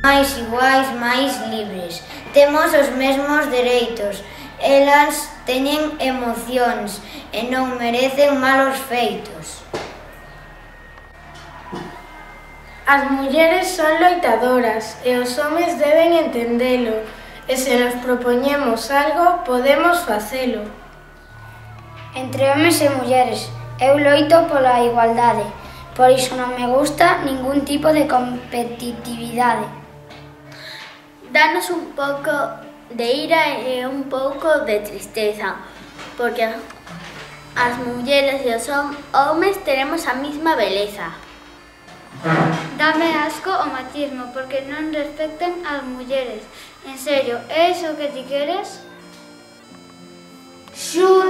máis iguais, máis libres. Temos os mesmos dereitos. Elas teñen emocións e non merecen malos feitos. As mulleres son loitadoras e os homes deben entendelo. E se nos propoñemos algo, podemos facelo. Entre homes e mulleres, eu loito pola igualdade. Por iso non me gusta ningún tipo de competitividade. Danos un pouco de ira e un pouco de tristeza, porque as mulleres e os homes teremos a mesma beleza. Dame asco o machismo, porque non respectan as mulleres. En serio, é iso que ti queres? Xúe!